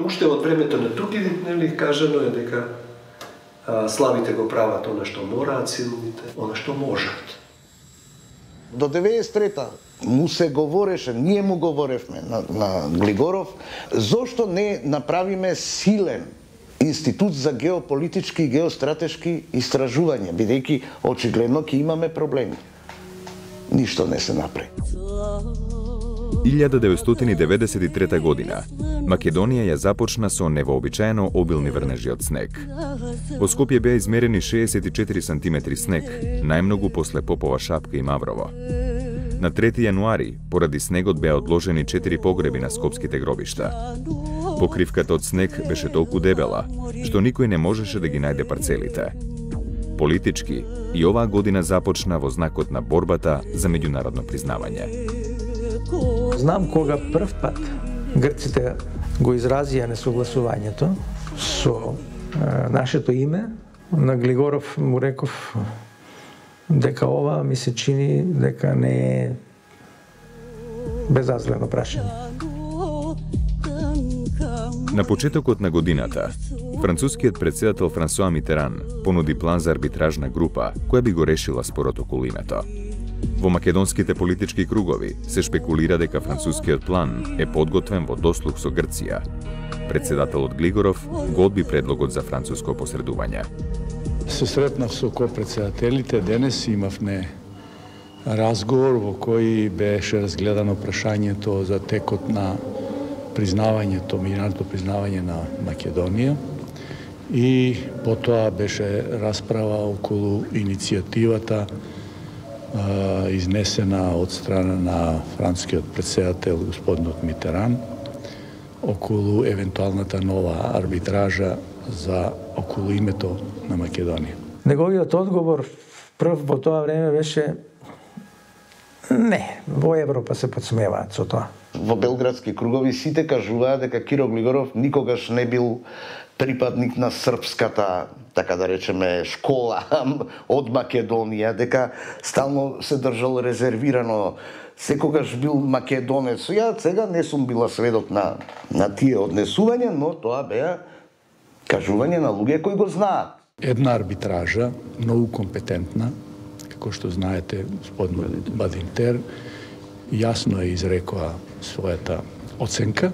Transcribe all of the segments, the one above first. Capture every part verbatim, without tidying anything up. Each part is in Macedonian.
Уште од времето на Тукидид, нели, кажано е дека а, слабите го прават она што мораат, силните она што можат. До деветдесет и трета му се говореше, ние му говоревме на, на Глигоров, зошто не направиме силен институт за геополитички и геостратешки истражувања, бидејќи очигледно ќе имаме проблеми. Ништо не се направи. илјада деветстотини деветдесет и трета година Македонија ја започна со невообичаено обилни врнежи од снег. Во Скопје беа измерени шеесет и четири сантиметри снег, најмногу после Попова Шапка и Маврово. На трети јануари, поради снегот беа одложени четири погреби на скопските гробишта. Покривката од снег беше толку дебела, што никој не можеше да ги најде парцелите. Политички, и оваа година започна во знакот на борбата за меѓународно признавање. Знам кога прв пат грците го изразија несогласувањето со е, нашето име, на Глигоров му реков дека ова ми се чини дека не е безазлено прашање. На почетокот на годината, францускиот председател Франсуа Митеран понуди план за арбитражна група која би го решила спорот околу името. Во македонските политички кругови се шпекулира дека францускиот план е подготвен во дослуг со Грција. Председателот Глигоров го одби предлогот за француско посредување. Се сретнав со ко-председателите, денес имавме разговор во кој беше разгледано прашањето за текот на признавањето, меѓународното признавање на Македонија, и потоа беше расправа околу иницијативата а, изнесена од страна на францускиот председател господинот Митеран околу евентуалната нова арбитража за околу името на Македонија. Неговиот одговор прв во тоа време беше не, во Европа се подсмеваат со тоа. Во белградски кругови сите кажуваат дека Киро Глигоров никогаш не бил припадник на српската, така да речеме, школа од Македонија, дека стално се држал резервирано, секогаш бил македонец. Ја сега не сум била сведок на, на тие однесувања, но тоа беа кажување на луѓе кои го знаат. Една арбитража, многу компетентна, како што знаете, господин Бадинтер, јасно е изрекоа својата оценка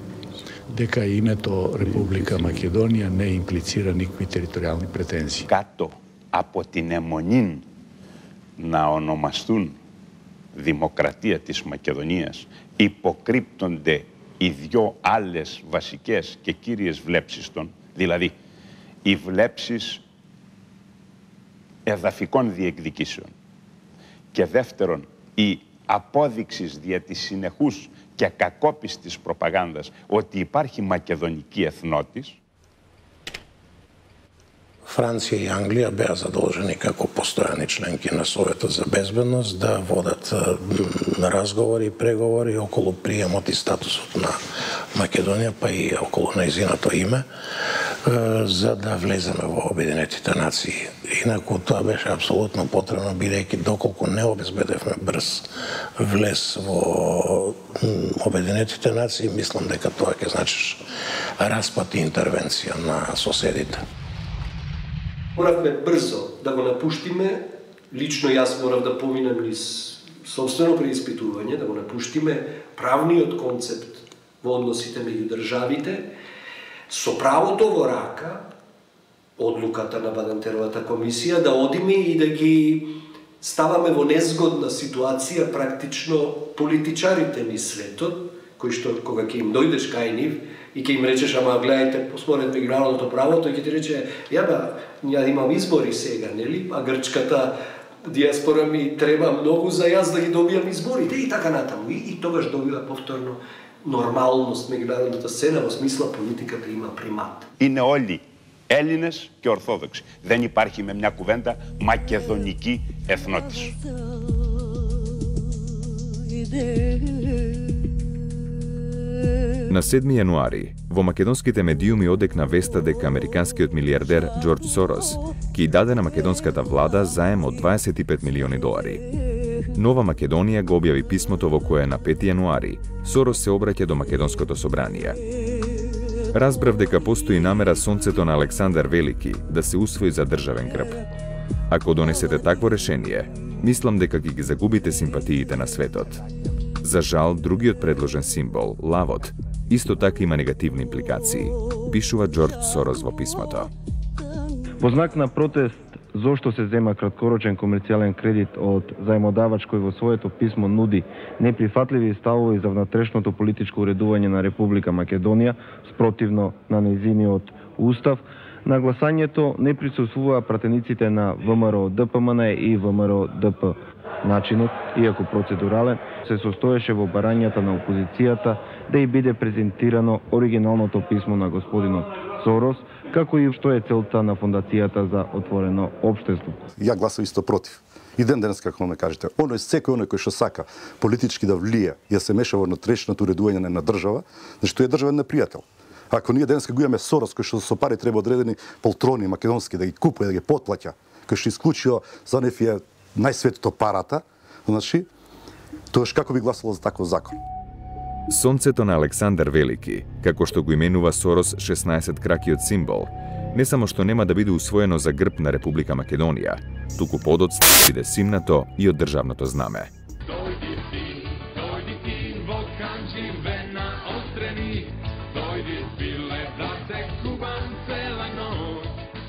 дека името Република Македонија не имплицира никакви територијални претензии. Κάτω από την αιμονή να ονομαστούν Δημοκρατία της Μακεδονίας υποκρύπτονται οι δυο άλλες βασικές και κύριες βλέψεις των, δηλαδή οι βλέψεις εδαφικών διεκδικήσεων και δεύτερον η απόδειξης δια της συνεχούς και κακόπιστης προπαγάνδας ότι υπάρχει μακεδονική εθνότης. Франција и Англија беа задолжени како постојани членки на Советот за безбедност да водат разговори и преговори околу приемот и статусот на Македонија, па и околу нејзиното име, за да влеземе во Обединетите нации. Инаку тоа беше апсолутно потребно, бидејќи доколку не обезбедевме брз влез во Обединетите нации, мислам дека тоа ќе значиш распад и интервенција на соседите. Моравме брзо да го напуштиме, лично јас морав да поминам низ собствено преиспитување, да го напуштиме правниот концепт во односите меѓу државите, со правото во рака, одлуката на Бадинтеровата комисија, да одиме и да ги ставаме во незгодна ситуација практично политичарите низ светот кои што кога ќе им дојдеш кај нив и ќе им речеш, ама гледајте, според меѓународното право, тој ќе ти рече, ја ба, ја имам избори сега, нели? А грчката диаспора ми треба многу за јас да ги добијам изборите и така натаму. И, и тогаш добива повторно нормалност меѓународната сцена, во смисла политиката има примат. Είναι όλοι Έλληνες και Ορθόδοξοι. Δεν υπάρχει με μια κουβέντα μακεδονική εθνότης. На седми јануари, во македонските медиуми одекна веста дека американскиот милиардер Џорџ Сорос ќе даде на македонската влада заем од дваесет и пет милиони долари. Нова Македонија го објави писмото во кое на пети јануари Сорос се обраќа до македонското собрание. Разбрав дека постои намера сонцето на Александар Велики да се усвои за државен грб. Ако донесете такво решение, мислам дека ќе ги загубите симпатиите на светот. За жал, другиот предложен символ, лавот, исто така има негативни импликации, пишува Џорџ Сорос во писмото. Во знак на протест зошто се зема краткорочен комерцијален кредит од заемодавач кој во своето писмо нуди неприфатливи ставови за внатрешното политичко уредување на Република Македонија спротивно на нејзиниот устав, на гласањето не присуствуваа пратениците на ВМРО ДПМН и ВМРО ДП. Начинот, иако процедурален, се состоеше во барањата на опозицијата да и биде презентирано оригиналното писмо на господинот Сорос, како и што е целта на Фондацијата за отворено општество. Ја гласав исто против. И ден денес, како ме кажете, оној секој оној кој што сака политички да влие и да се меша во внатрешното уредување на држава, значи тој е државен непријател. Ако ние денес го имаме Сорос кој што со пари треба одредени полтрони македонски да ги купува, да ги потплаќа, кој што исклучио за неф е најсветото парата, значи тоаш како би гласало за таков закон? Сонцето на Александар Велики, како што го именува Сорос шеснаесет кракиот символ, не само што нема да биде усвоено за грб на Република Македонија, туку подоцна да биде симнато и од државното знаме.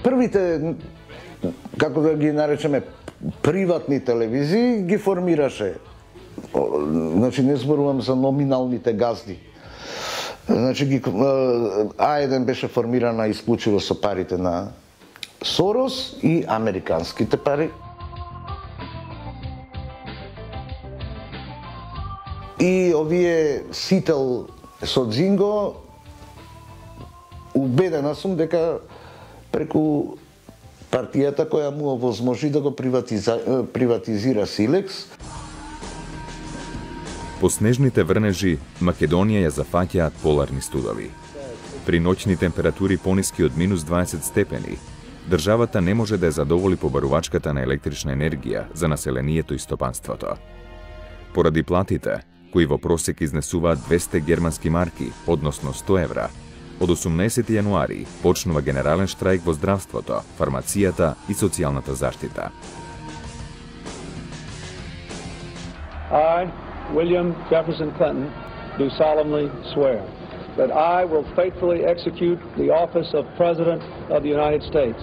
Првите, како да ги наречеме, приватни телевизии ги формираше. Значи не зборувам за номиналните газди. Значи ги А еден беше формирана исклучиво со парите на Сорос и американските пари. И овие Сител со Дзинго, убедена сум дека преку партијата која му овозможи да го приватизира, приватизира Силекс. По снежните врнежи, Македонија ја зафаќаат поларни студови. При ноќни температури пониски од минус дваесет степени, државата не може да ја задоволи побарувачката на електрична енергија за населението и стопанството. Поради платите, кои во просек изнесуваат двесте германски марки, односно сто евра, од осумнаесети јануари почнува генерален штрајк во здравството, фармацијата и социјалната заштита. I, William Jefferson Clinton, do solemnly swear that I will faithfully execute the office of President of the United States.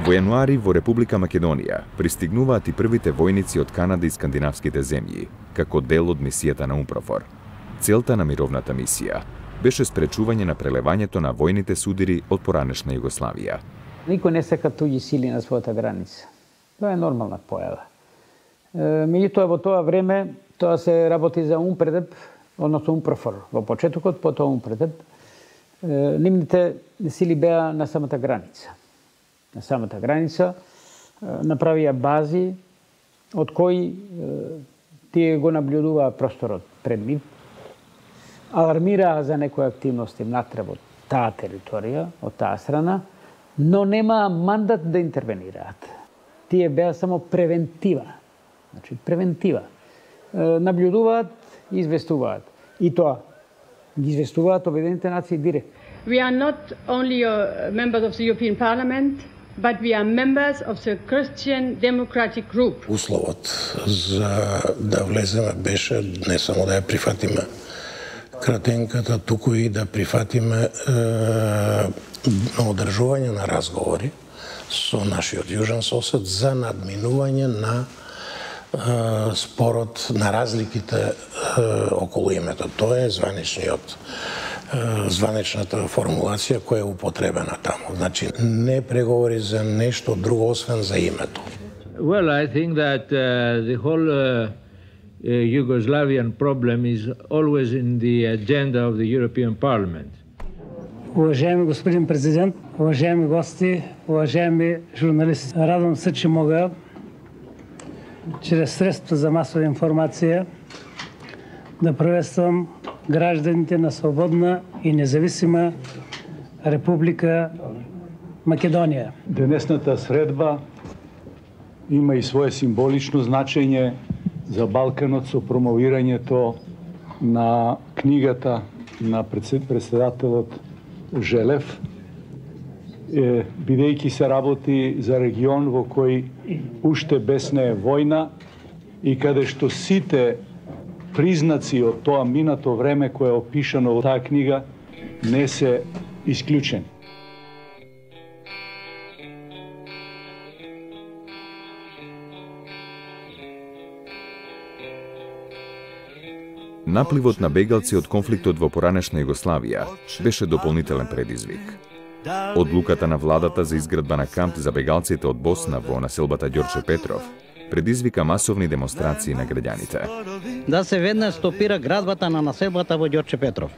Во јануари во Република Македонија пристигнуваат и првите војници од Канада и скандинавските земји, како дел од мисијата на УНПРОФОР. Целта на мировната мисија беше спречување на прелевањето на војните судири од поранешна Југославија. Никој не сака туѓи сили на својата граница. Тоа е нормална појава. Меѓутоа во тоа време тоа се работи за УНПРЕДЕП, односно УНПРОФОР. Во почетокот, потоа УНПРЕДЕП, нивните сили беа на самата граница. На самата граница направија бази од кои тие го наблюдуваа просторот пред нив, алармираа за некои активности натреб од таа територија, од таа страна, но немаа мандат да интервенираат. Тие беа само превентива. Значи, превентива. Наблюдуваат и известуваат. И тоа ги известуваат Обединените нации директно. We are not only members of the European Parliament, but we are members of the Christian Democratic Group. Условот за да влеземе беше не само да ја прифатиме кратенката, туку и да прифатиме е, одржување на разговори со нашиот јужен сосед за надминување на спорот на разликите околу името. Тоа е званичниот званичната формулација која е употребена таму. Значи, не преговори за нешто друго освен за името. Well, I think that uh, the whole uh, uh, Yugoslavian problem is always in the agenda of the European Parliament. Уважаеми господин президент, уважаеми гости, уважаеми журналисти, радвам се, че мога чрез средства за масова информация да приветствам гражданите на свободна и независима Република Македонија. Денесната средба има и свое символично значење за Балканот со промовирањето на книгата на председателот Желев, бидејќи се работи за регион во кој уште бесне е војна и каде што сите признаци од тоа минато време кое е опишано во таа книга не се исклучени. Напливот на бегалци од конфликтот во поранешна Југославија беше дополнителен предизвик. Одлуката на владата за изградба на камп за бегалците од Босна во населбата Ѓорче Петров предизвика масовни демонстрации на граѓаните. Да се веднаш стопира градбата на населбата во Ѓорче Петров.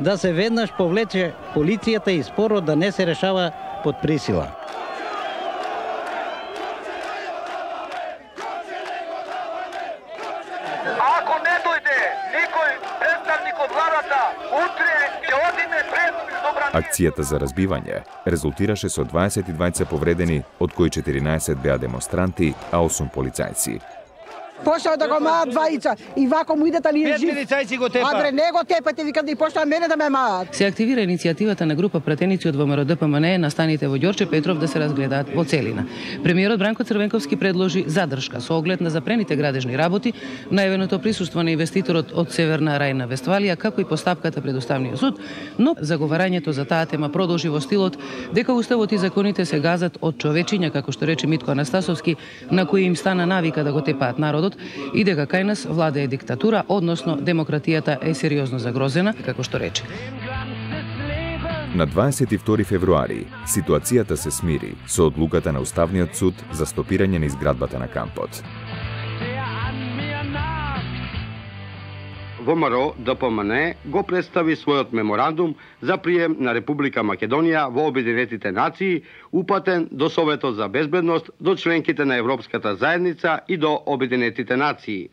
Да се веднаш повлече полицијата и спорот да не се решава под присила. Ако не дојде никој представник од владата, утре ќе одиме пред собрание. Акцијата за разбивање резултираше со дваесет и двајца повредени, од кои четиринаесет беа демонстранти, а осум полицајци. Почнаа да го маат двајца и вако му идат, али е жив. Пет полицајци го тепа. Адре, не го тепате, викам да и почнаа мене да ме маат. Се активира иницијативата на група пратеници од ВМРО Д П М Н Е на станите во Ѓорче Петров да се разгледаат во целина. Премиерот Бранко Црвенковски предложи задршка со оглед на запрените градежни работи, најавеното присуство на инвеститорот од Северна Рајна Вестфалија, како и постапката пред Уставниот суд, но заговарањето за таа тема продолжи во стилот дека уставот и законите се газат од човечиња, како што рече Митко Анастасовски, на кои им стана навика да го тепаат народот, и дека кај нас владее диктатура, односно демократијата е сериозно загрозена, како што рече. На дваесет и втори февруари ситуацијата се смири со одлуката на Уставниот суд за стопирање на изградбата на кампот. ВМРО Д П М Н Е го представи својот меморандум за прием на Република Македонија во Обединетите нации, упатен до Советот за безбедност, до членките на Европската заедница и до Обединетите нации.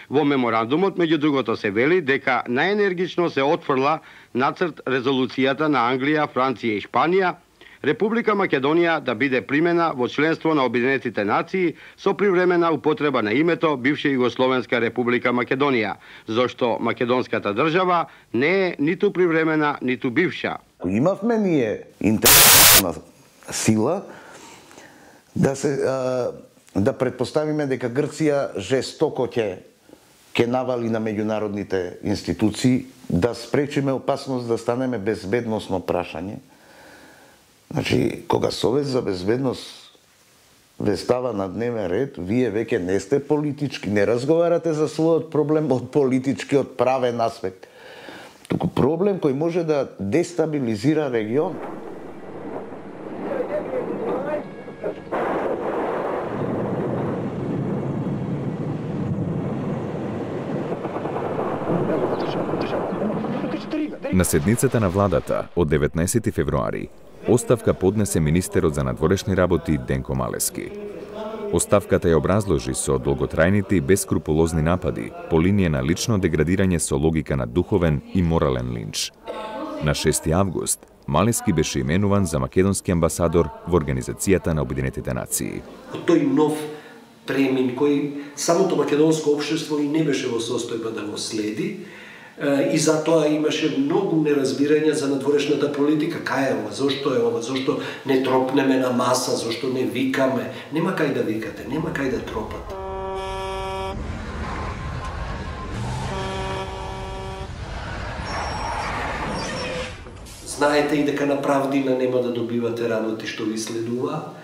Во меморандумот, меѓу другото, се вели дека најенергично се отфрла нацрт резолуцијата на Англија, Франција и Шпанија, Република Македонија да биде примена во членство на Обединетите нации со привремена употреба на името бивша Југословенска Република Македонија, зашто македонската држава не е ниту привремена, ниту бивша. Имавме ние интерна сила да се да претпоставиме дека Грција жестоко ќе ќе навали на меѓународните институции, да спречиме опасност да станеме безбедносно прашање. Значи, кога Совет за безбедност ве става на дневен ред, вие веќе не сте политички, не разговарате за својот проблем од политички, од правен аспект. Туку проблем кој може да дестабилизира регион. На седницата на владата од деветнаесети февруари оставка поднесе министерот за надворешни работи Денко Малески. Оставката ја образложи со долготрајните и бескрупулозни напади по линија на лично деградирање со логика на духовен и морален линч. На шести август Малески беше именуван за македонски амбасадор во Организацијата на Обединетите нации. Тој нов премин кој самото македонско општество и не беше во состојба да го следи, и затоа имаше многу неразбирање за надворешната политика. Кај е ова? Зошто е ова? Зошто не тропнеме на маса? Зошто не викаме? Нема кај да викате, нема кај да тропате. Знаете и дека на правдина нема да добивате работи што ви следува,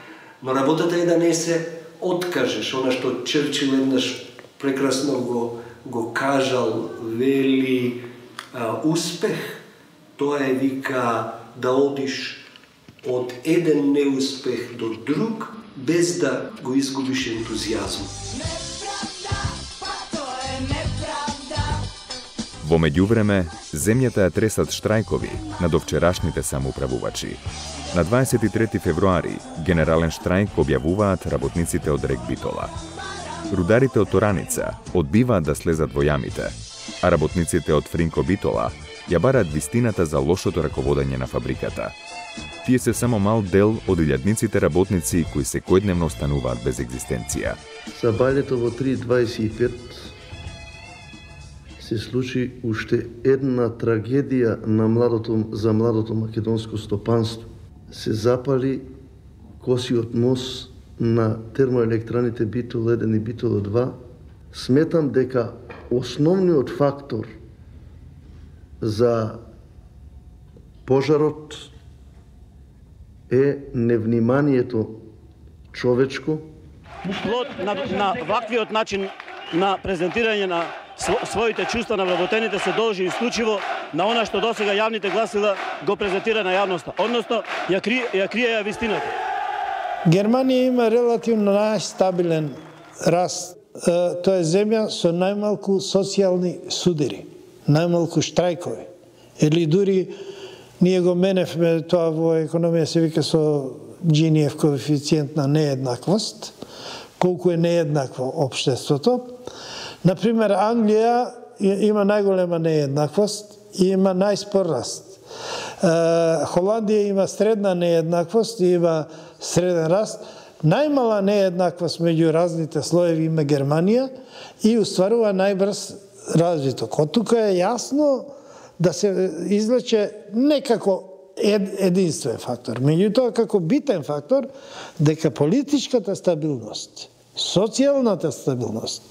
но работата е да не се откажеш, она што Черчил еднаш прекрасно го, го кажал, вели а, успех, тоа е вика да одиш од еден неуспех до друг, без да го изгубиш ентузијазм. Во меѓувреме, земјата ја тресат штрајкови на довчерашните самоуправувачи. На дваесет и трети февруари генерален штрајк објавуваат работниците од РЕК Битола. Рударите од Тораница одбиваат да слезат во јамите, а работниците од Фринко Битола ја бараат вистината за лошото раководење на фабриката. Тие се само мал дел од илјадниците работници кои секојдневно остануваат без екзистенција. Сабајлето во три дваесет и пет се случи уште една трагедија на младото, за младото македонско стопанство. Се запали косиот мост на термоелектраните Битол еден и Битол два. Сметам дека основниот фактор за пожарот е невниманието човечко. Плод на, на ваквиот начин на презентирање на своите чувства на вработените се должи исклучиво на она што досега јавните гласила го презентира на јавноста, односно ја крие, ја крие ја вистината. Германија има релативно најстабилен раст. Тоа е земја со најмалку социјални судири, најмалку штрајкови. Или дури ние го меневме тоа во економија се вика со Джиниев коефициент на нееднаквост, колку е нееднакво општеството. Например, Англија има најголема нееднаквост и има најспор раст. Холандија има средна нееднаквост и има среден раст. Најмала нееднаквост меѓу разните слоеви има Германија и устварува најбрз развиток. Од тука е јасно да се извлече некако единствен фактор. Меѓутоа, како битен фактор, дека политичката стабилност, социјалната стабилност,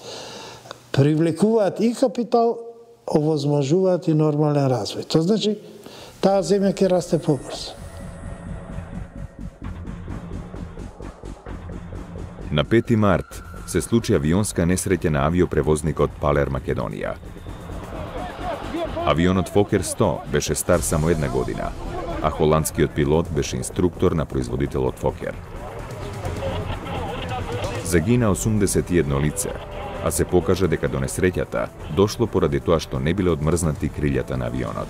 привлекуваат и капитал, овозможуваат и нормален развој. Тоа значи, таа земја ќе расте побрзо. На пети март се случи авионска несреќа на авиопревозникот Палер Македонија. Авионот Фокер сто беше стар само една година, а холандскиот пилот беше инструктор на производителот Фокер. Загина осумдесет и едно лице, а се покажа дека до несреќата дошло поради тоа што не биле одмрзнати крилјата на авионот.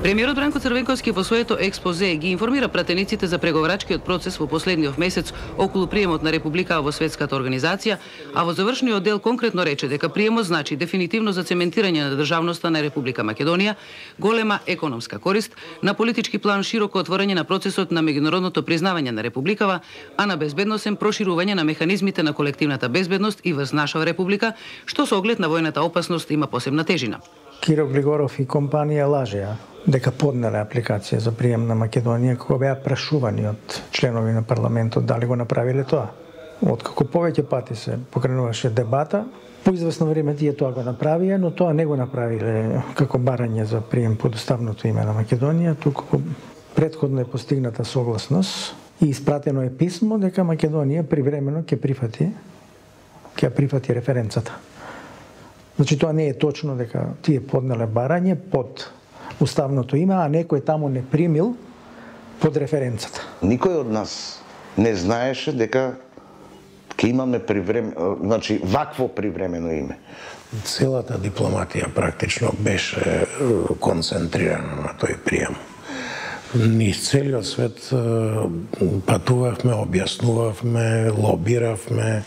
Премиерот Бранко Црвенковски во своето експозе ги информира пратениците за преговарачкиот процес во последниот месец околу приемот на Република во светската организација, а во завршниот дел конкретно рече дека приемот значи дефинитивно зацементирање на државноста на Република Македонија, голема економска корист, на политички план широко отворање на процесот на меѓународното признавање на Републикава, а на безбедносен проширување на механизмите на колективната безбедност и врз наша Република, што со оглед на војната опасност има посебна тежина. Киро Глигоров и компанија лажеа дека поднеле апликација за прием на Македонија кога беа прашувани од членови на парламентот дали го направиле тоа. Откако повеќе пати се покренуваше дебата, по известно време тие тоа го направија, но тоа не го направиле како барање за прием под уставното име на Македонија, туку претходно е постигната согласност и испратено е писмо дека Македонија привремено ќе прифати ќе прифати референцата. Значи тоа не е точно дека тие поднеле барање под уставното име, а некој таму не примил под референцата. Никој од нас не знаеше дека ќе имаме приврем... значи вакво привремено име. Целата дипломатија практично беше концентрирана на тој прием. Низ целиот свет патувавме, објаснувавме, лобиравме,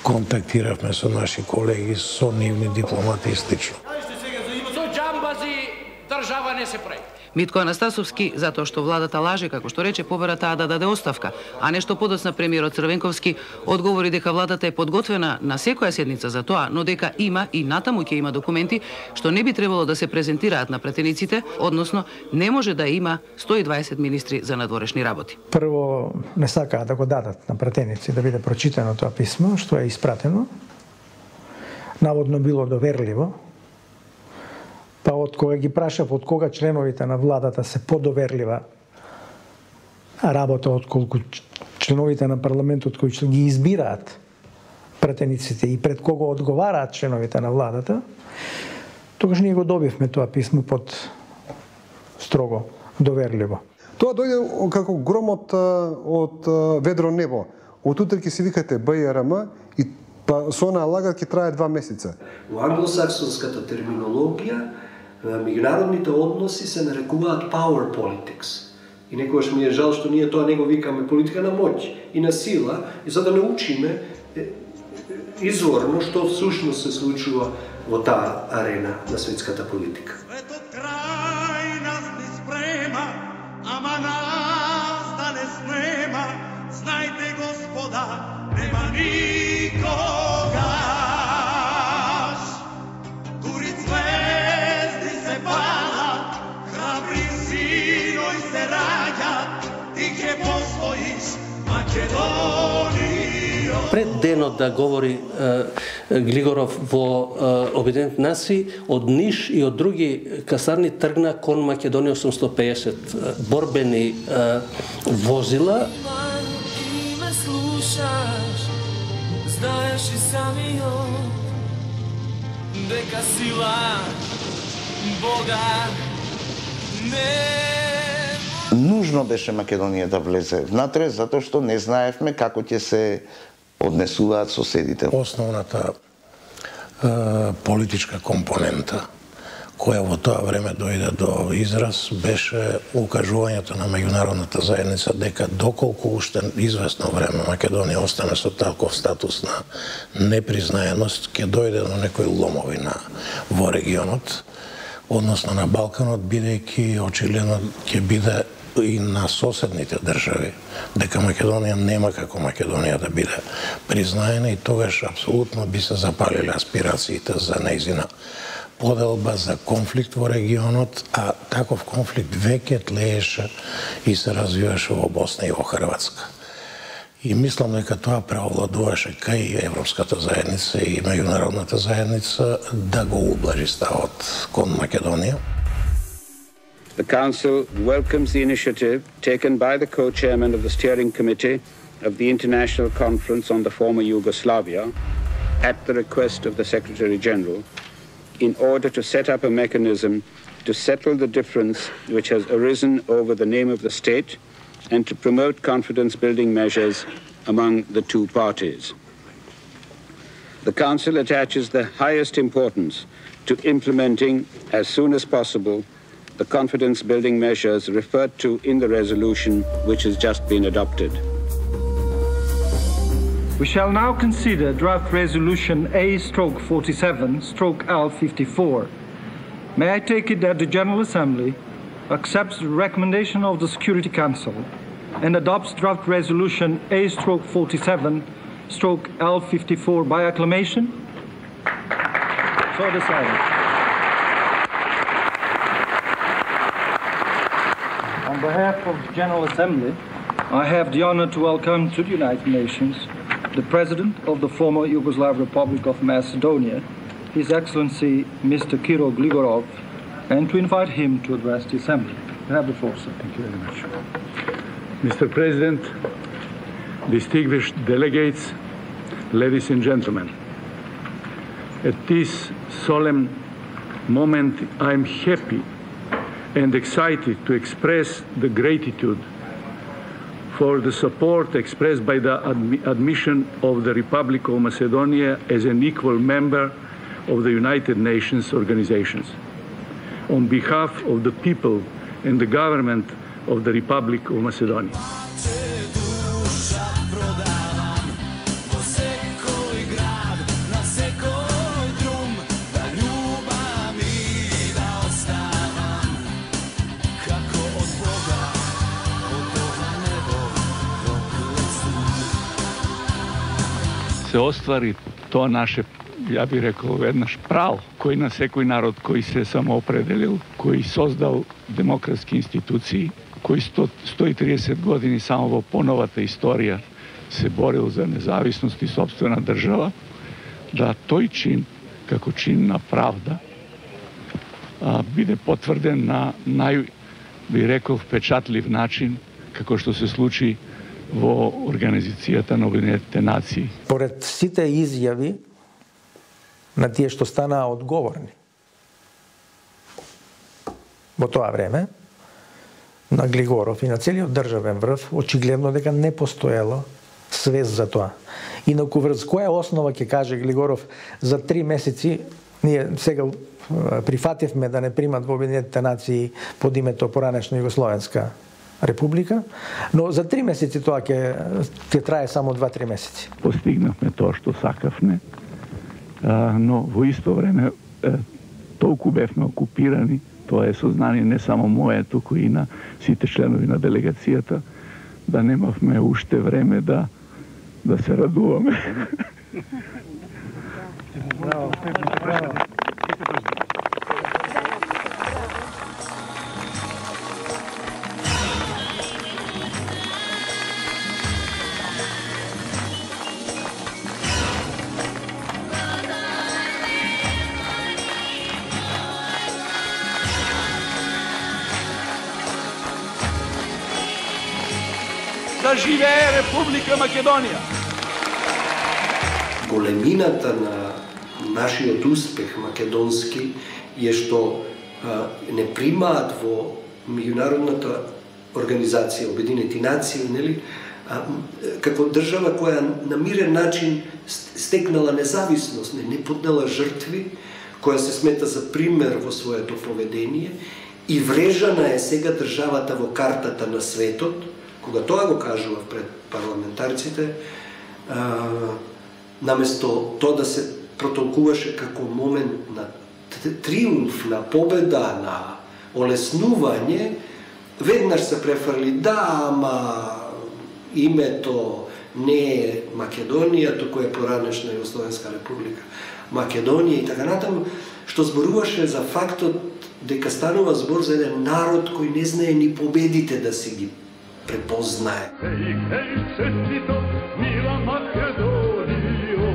контактиравме со наши колеги, со нивни дипломати истично. Држава не се прави. Митко Анастасовски, затоа што владата лаже, како што рече, побара таа да даде оставка, а нешто подоцна премиерот Црвенковски одговори дека владата е подготвена на секоја седница за тоа, но дека има и натаму ќе има документи што не би требало да се презентираат на претениците, односно не може да има сто и дваесет министри за надворешни работи. Прво не сакаа да го дадат на претеници да биде прочитано тоа писмо што е испратено. Наводно било доверливо, Па од кога ги прашав од кога членовите на владата се подоверлива работа отколку членовите на парламентот кои ги избираат пратениците и пред кого одговараат членовите на владата, тогаш ние го добивме тоа писмо под строго доверливо. Тоа дојде како громот од ведро небо. Од утре ќе си викате Б Р М и па со онаа лага ќе трае два месеца. Во англосаксонската терминологија меѓународните односи се нарекуваат power politics. И некогаш ми е жал што ние тоа не го викаме политика на моќ и на сила, и за да научиме изворно што всушност се случува во таа арена на светската политика. Крај нас не спрема, ама нас да не снема, знајте Господа, нема никогаш. Дури звезди се палат, храбри синој се раѓат, ти ќе постоиш, Македонија. Пред денот да говори е, Глигоров во е, Обединетите нации, од Ниш и од други касарни тргна кон Македонија осумстотини и педесет борбени е, возила. И ме слушаш, знаеш и самиот, дека сила Бога не. Нужно беше Македонија да влезе внатре, затоа што не знаевме како ќе се однесуваат соседите. Основната е, политичка компонента која во тоа време дојде до израз беше укажувањето на меѓународната заедница дека доколку уште известно време Македонија остане со таков статус на непризнаеност, ќе дојде до некои ломови на во регионот, односно на Балканот, бидејќи очигледно ќе биде и на соседните држави, дека Македонија нема како Македонија да биде признаена, и тогаш апсолутно би се запалиле аспирациите за нејзина поделба, за конфликт во регионот, а таков конфликт веќе тлееше и се развиваше во Босна и во Хрватска. И мислам дека тоа преовладуваше кај Европската заедница и меѓународната заедница да го ублажи ставот кон Македонија. The Council welcomes the initiative taken by the co-chairman of the Steering Committee of the International Conference on the Former Yugoslavia, at the request of the Secretary-General, in order to set up a mechanism to settle the difference which has arisen over the name of the state and to promote confidence-building measures among the two parties. The Council attaches the highest importance to implementing, as soon as possible, the confidence-building measures referred to in the resolution which has just been adopted. We shall now consider draft resolution A forty-seven L fifty-four. May I take it that the General Assembly accepts the recommendation of the Security Council and adopts draft resolution A forty-seven L fifty-four by acclamation? So decided. On behalf of the General Assembly, I have the honor to welcome to the United Nations the President of the former Yugoslav Republic of Macedonia, His Excellency Mister Kiro Gligorov, and to invite him to address the Assembly. You have the floor, sir. Thank you very much. Mister President, distinguished delegates, ladies and gentlemen, at this solemn moment, I am happy and excited to express the gratitude for the support expressed by the admi admission of the Republic of Macedonia as an equal member of the United Nations organizations. On behalf of the people and the government of the Republic of Macedonia. се оствари тоа наше, ја би рекол, веднаш право, кој на секој народ кој се самоопределил, кој создал демократски институции, кој сто и триесет години само во поновата историја се борил за независност и сопствена држава, да тој чин, како чин на правда, а, биде потврден на нај, би рекол, впечатлив начин, како што се случи во Организацијата на Обединетите нации. Поред сите изјави на тие што станаа одговорни во тоа време, на Глигоров и на целиот државен врв, очигледно дека не постоело свест за тоа. Инаку врз која основа ќе каже Глигоров за три месеци, ние сега прифативме да не примат во Обединетите нации под името поранешна Југословенска република, но за три месеци тоа ќе ќе трае само два-три месеци. Постигнавме тоа што сакавме, но во исто време толку бевме окупирани, тоа е сознание не само мое, туку и на сите членови на делегацијата, да немавме уште време да да се радуваме. Браво, браво. Да живее Република Македонија! Големината на нашиот успех македонски е што а, не примаат во меѓународната организација Обединети нации, нели, а, како држава која на мирен начин стекнала независност, не, не поднела жртви, која се смета за пример во своето поведение и врежана е сега државата во картата на светот. Кога тоа го кажував пред парламентарците, а, наместо тоа да се протолкуваше како момент на триумф, на победа, на олеснување, веднаш се префрли, да, ама името не е Македонија, туку е поранешна Југословенска република Македонија и така натаму, што зборуваше за фактот дека станува збор за еден народ кој не знае ни победите да си ги препознае. Хеј, хеј, честито, мила Македонијо.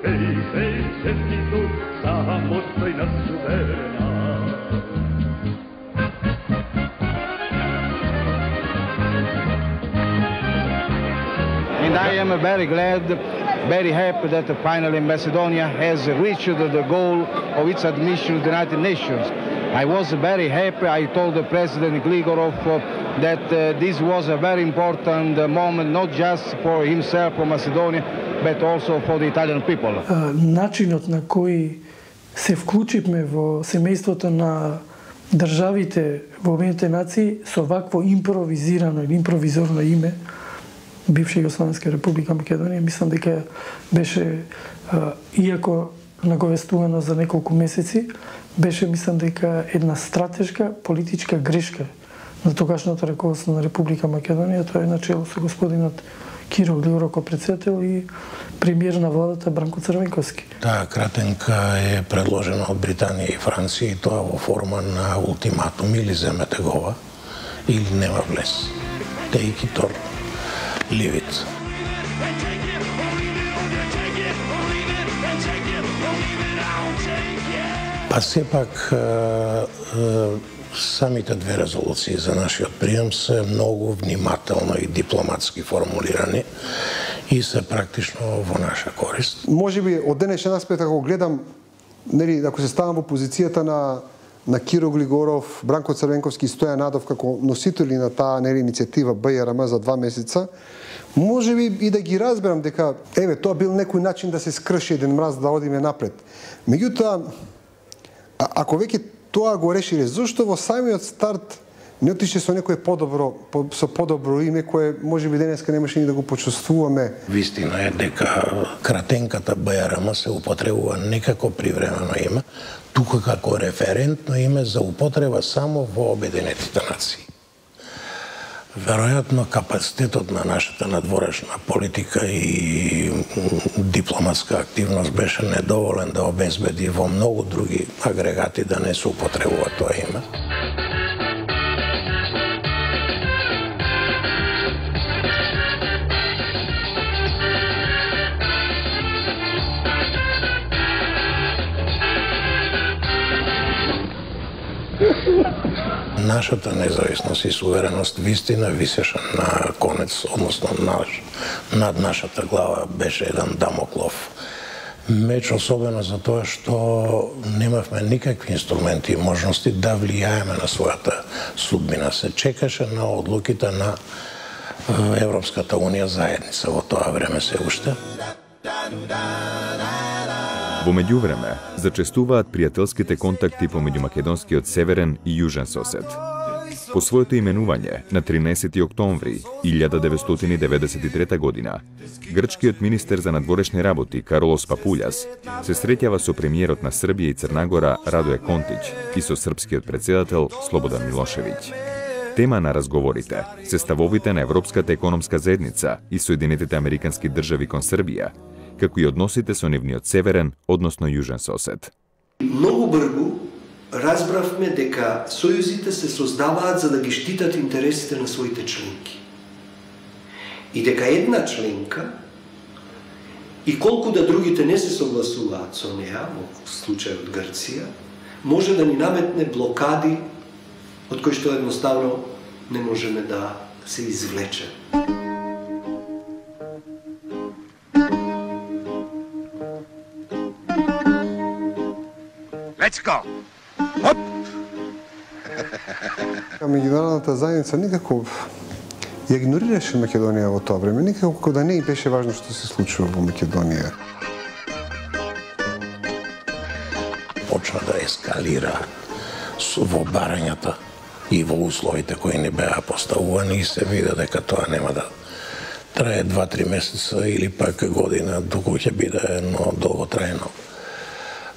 Хеј, хеј, честито, самостојна суверена. And I am very glad, very happy that finally Macedonia has reached the goal of its admission to the United Nations. I was very happy. I told the President Gligorov uh, that uh, this was a very important uh, moment, not just for himself, for Macedonia, but also for the Italian people. Uh, начинот на кој се вклучивме во семејството на државите во Обединетите нации со вакво импровизирано или импровизорно име, бивша Југословенска република Македонија, мислам дека беше, uh, иако наговестувано за неколку месеци, беше, мислам дека, една стратешка политичка грешка на тогашното раководство на Република Македонија. Тоа е начело со господинот Киро Глигоров како председател и премиер на владата Бранко Црвенковски. Таа кратенка е предложена од Британија и Франција и тоа во форма на ултиматум: или земете гова, или нема влез. Take it or leave it. Па сепак самите две резолуции за нашиот прием се многу внимателно и дипломатски формулирани и се практично во наша корист. Може би од денешен аспект, ако гледам, нели, ако се ставам во позицијата на на Киро Глигоров, Бранко Црвенковски и Стојан Надов како носители на таа, нели, иницијатива Б Р М за два месеца, може би и да ги разберам дека еве тоа бил некој начин да се скрши еден мраз, да одиме напред. Меѓутоа, а, ако веќе тоа го решиле, зошто во самиот старт не отише со некој подобро, по, со подобро име кое можеби денеска немаше ни да го почувствуваме? Вистина е дека кратенката Б Р М се употребува не како привремено име, туку како референтно име за употреба само во Обединетите нации. Веројатно капацитетот на нашата надворешна политика и дипломатска активност беше недоволен да обезбеди во многу други агрегати да не се употребува тоа име. нашата независност и сувереност вистина висеше на конец, односно наш, над нашата глава беше еден дамоклов меч, особено за тоа што немавме никакви инструменти и можности да влијаеме на својата судбина. Се чекаше на одлуките на Европската унија заедница во тоа време се уште. Во меѓувреме, зачестуваат пријателските контакти помеѓу македонскиот северен и јужен сосед. По своето именување, на тринаесети октомври илјада деветстотини деветдесет и трета година, грчкиот министер за надворешни работи Каролос Папулјас се среќава со премиерот на Србија и Црнагора Радоје Контич и со српскиот председател Слободан Милошевиќ. Тема на разговорите се ставовите на Европската економска заедница и Соединетите Американски држави кон Србија, како и односите со нивниот северен, односно јужен сосед. Многу брзо разбравме дека сојузите се создаваат за да ги штитат интересите на своите членки. И дека една членка, и колку да другите не се согласуваат со неа, во случајот Грција, може да ни наметне блокади од кои што едноставно не можеме да се извлече. Let's go! Оп! Меѓународната заедница никако ја игнорираше Македонија во тоа време, никако да не и беше важно што се случува во Македонија. Почна да ескалира во барањата и во условите кои не беа поставувани и се виде дека тоа нема да трае два-три месеца или пак година, доколку ќе биде едно долготрајно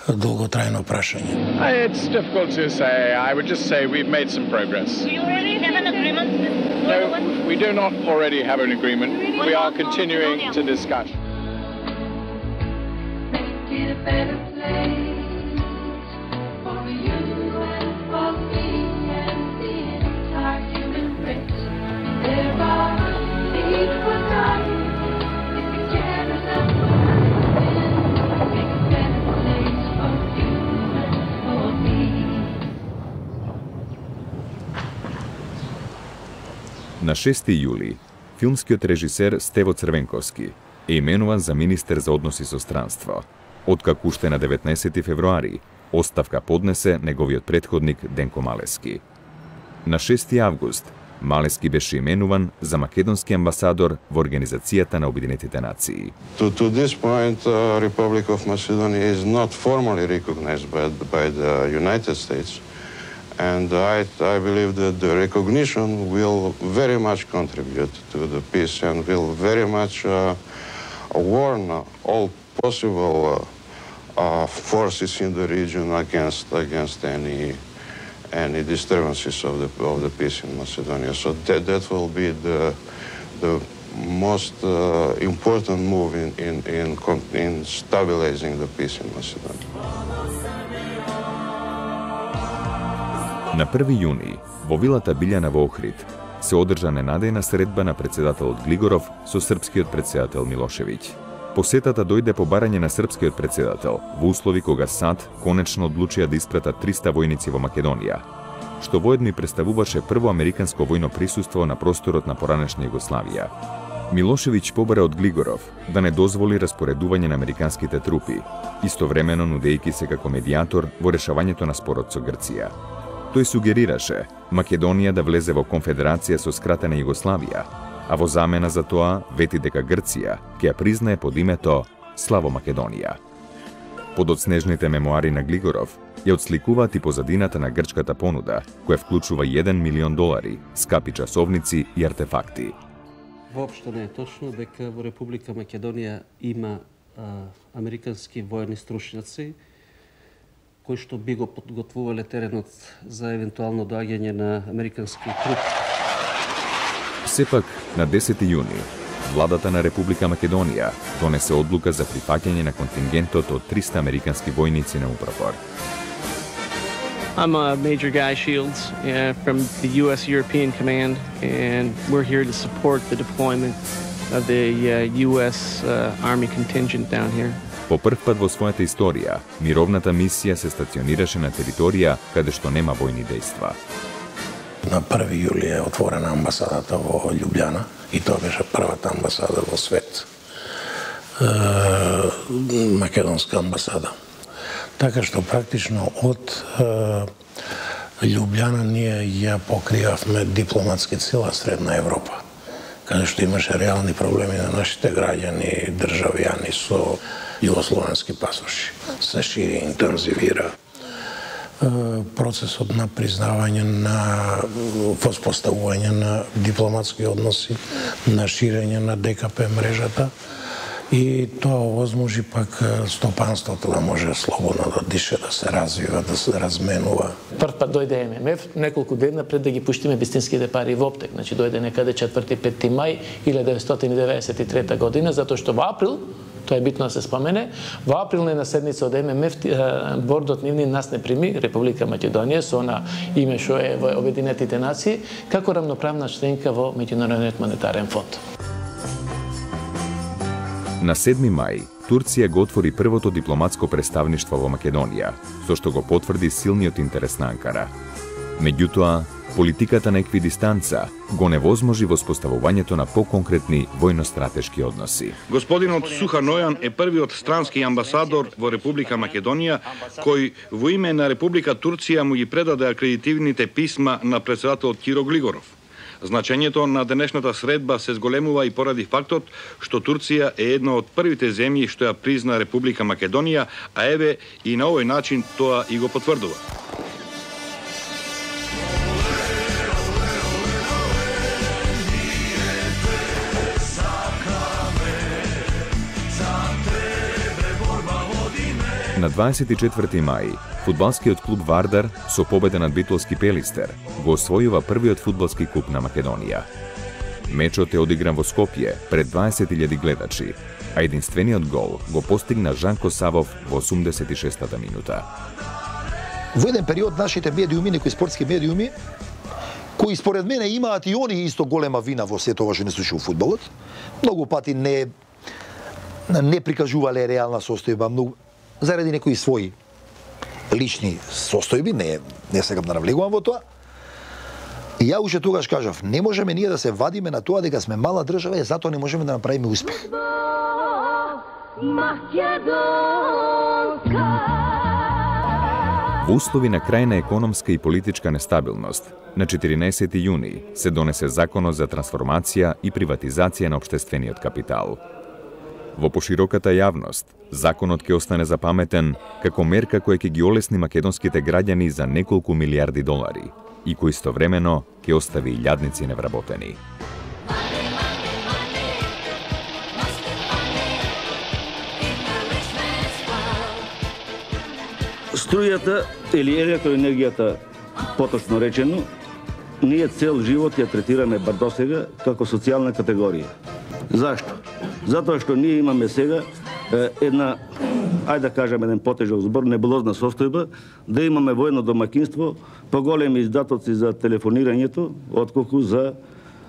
долготрајно прашање. It's difficult to say. I would just say we've made some progress. Do you already have an agreement? No, we do not already have an agreement. We are continuing to discuss. Make it a better place for you and for me and the entire human race. There are needs for time if you care enough. Make a better place for you and for me. На шести јули, филмскиот режисер Стево Црвенковски е именуван за министер за односи со странство, откако уште на деветнаесети февруари оставка поднесе неговиот предходник Денко Малески. На шести август Малески беше именуван за македонски амбасадор во Организацијата на Обединетите нации. To, to this point, uh, Republic of Macedonia is not formally recognized by, by the United States, and I, I believe that the recognition will very much contribute to the peace and will very much uh, warn all possible uh, uh, forces in the region against against any any disturbances of the of the peace in Macedonia. So that that will be the the most uh, important move in in in in stabilizing the peace in Macedonia. На први јуни, во вилата Билјана во Охрид, се одржа ненадејна средба на председателот Глигоров со српскиот председател Милошевиќ. Посетата дојде по барање на српскиот председател во услови кога САД конечно одлучија да испратат триста војници во Македонија, што воедно и представуваше прво американско војно присуство на просторот на поранешна Југославија. Милошевиќ побара од Глигоров да не дозволи распоредување на американските трупи, истовремено нудејќи се како медијатор во решавањето на спорот со Грција. Тој сугерираше Македонија да влезе во конфедерација со скратена Југославија, а во замена за тоа вети дека Грција ќе ја признае под името Славо Македонија. Подоцнежните мемуари на Глигоров ја отсликуваат и позадината на грчката понуда, која вклучува еден милион долари, скапи часовници и артефакти. Воопшто не е точно дека во Република Македонија има а, американски војни стручњаци кои што би го подготвувале теренот за евентуално доаѓање на американски трупи. Сепак, на десети јуни, владата на Република Македонија донесе одлука за прифаќање на контингентот од триста американски војници на Упропор. I'm uh, Major Guy Shields uh, from the U S European Command, and we're here to support the deployment of the uh, U S uh, Army contingent down here. По прв пат во својата историја, мировната мисија се стационираше на територија каде што нема војни дејства. на први јули е отворена амбасадата во Љубљана и тоа беше првата амбасада во свет. Македонска амбасада. Така што практично од Љубљана ние ја покривавме дипломатски цела Средна Европа, каде што имаше реални проблеми на нашите граѓани, државјани со југословенски пасоши. Се шири, интензивира процесот на признавање на воспоставување на дипломатски односи, на ширење на ДКП мрежата и тоа овозможи пак стопанството да може слободно да дише, да се развива, да се разменува. Прв пат дојде Ем Ем Еф неколку дена пред да ги пуштиме вистинските пари во оптек. Значи дојде некаде четврти-пети мај илјада деветстотини деветдесет и трета година, затоа што во април, тоа е битно да се спомене, во април на една седница од Ем Ем Еф бордот нивни нас не прими, Република Македонија, со она име што е во Обединетите нации, како рамноправна членка во Меѓународниот монетарен фонд. На седми мај, Турција го отвори првото дипломатско представништво во Македонија, со што го потврди силниот интерес на Анкара. Меѓутоа, политиката на еквидистанца го невозможи воспоставувањето на поконкретни војно-стратешки односи. Господинот Суханојан е првиот странски амбасадор во Република Македонија, кој во име на Република Турција му ги предаде акредитивните писма на претседателот Киро Глигоров. Значењето на денешната средба се зголемува и поради фактот што Турција е една од првите земји што ја призна Република Македонија, а еве и на овој начин тоа и го потврдува. На дваесет и четврти мај, фудбалскиот клуб Вардар со победа над битолски Пелистер го освојува првиот фудбалски куп на Македонија. Мечот е одигран во Скопје пред дваесет илјади гледачи, а единствениот гол го постигна Жанко Савов во осумдесет и шестата минута. Во еден период нашите медиуми, некои спортски медиуми, кои според мене имаат и они исто голема вина во сето ова што не случува фудбалот, многу пати не не прикажувале реална состојба, многу заради некои своји лични состојби, не не сакам да навлегувам во тоа. И ја уште тогаш кажав, не можеме ние да се вадиме на тоа дека сме мала држава и затоа не можеме да направиме успех. Во услови на крајна економска и политичка нестабилност, на четиринаесети јуни се донесе Законот за трансформација и приватизација на општествениот капитал. Во пошироката јавност, законот ќе остане запаметен како мерка која ќе ги олесни македонските граѓани за неколку милиарди долари и кој истовремено ќе остави илјадници невработени. Струјата или електроенергијата, поточно речено, ние цел живот ја третираме бар досега како социјална категорија. Зашто? Затоа што ние имаме сега една, ајде да кажем еден потежок збор, небулозна состојба, да имаме воено домакинство, поголеми издатоци за телефонирањето, отколку за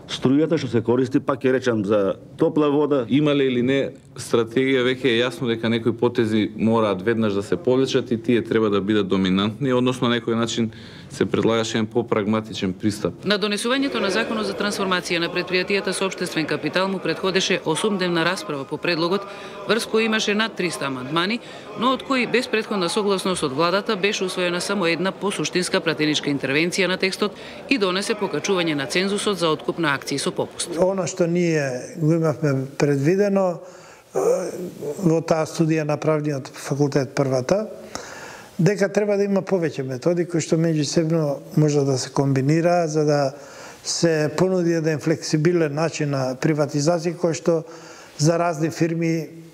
струјата што се користи, пак ќе речам за топла вода. Има ли или не стратегија, веќе е јасно дека некои потези мораат веднаш да се повлечат и тие треба да бидат доминантни, односно на некој начин се предлагаше еден попрагматичен пристап. На донесувањето на Законот за трансформација на предпријатијата со општествен капитал му предходеше осумдневна расправа по предлогот, врз кој имаше над триста амандмани, но од кои без претходна согласност од владата беше усвоена само една посуштинска пратеничка интервенција на текстот и донесе покачување на цензусот за откуп на акции со попуст. Оно што ние го имавме предвидено во таа студија на правниот факултет првата, дека треба да има повеќе методи кои што меѓусебно може да се комбинира за да се понуди еден флексибилен начин на приватизација кој што за разни фирми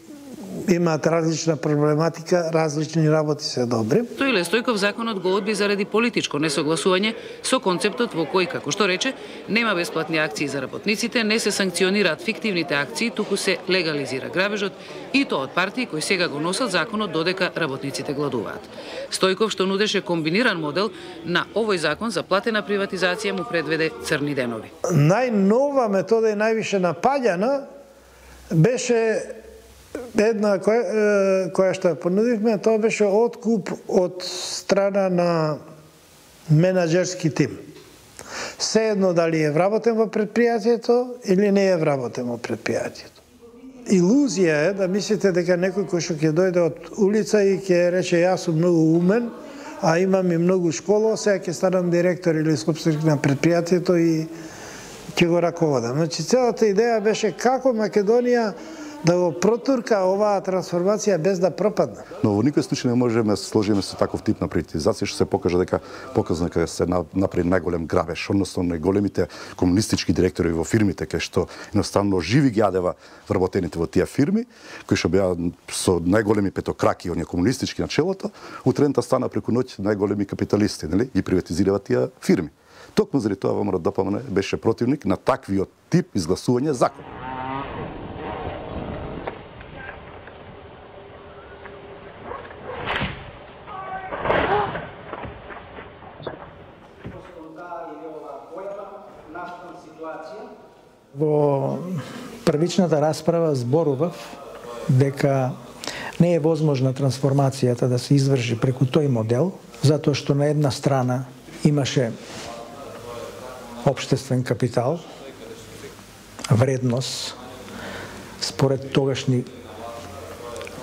имаат различна проблематика, различни работи се добри. Стоиле Стојков законот го одби заради политичко несогласување со концептот во кој, како што рече, нема бесплатни акции за работниците, не се санкционираат фиктивните акции, туку се легализира грабежот и тоа од партии кои сега го носат законот додека работниците гладуваат. Стојков што нудеше комбиниран модел на овој закон за платена приватизација му предведе црни денови. Најнова метода и највише напаѓана беше една која, која што ја понудивме, тоа беше откуп од страна на менаџерски тим. Се едно дали е вработен во предпријатието или не е вработен во предпријатието. Илузија е да мислите дека некој кој што ќе дојде од улица и ќе рече јас сум многу умен, а имам и многу школа, сега ќе станам директор или собственик на предпријатието и ќе го раководам. Значи целата идеја беше како Македонија да го протурка оваа трансформација без да пропадне. Но во никој случај не можеме да се сложиме со таков тип на приватизација што се покажа дека показано дека се направи најголем грабеж, односно најголемите комунистички директори во фирмите кај што едноставно живи ги јадева вработените во тие фирми, кои што беа со најголеми петокраки оние комунистички на челото, утредента стана преку ноќ најголеми капиталисти, нели? Ги приватизирава тие фирми. Токму заради тоа ВМРО-ДПМН беше противник на таквиот тип изгласување закон. Во првичната расправа зборував дека не е возможна трансформацијата да се изврши преку тој модел, затоа што на една страна имаше општествен капитал, вредност, според тогашни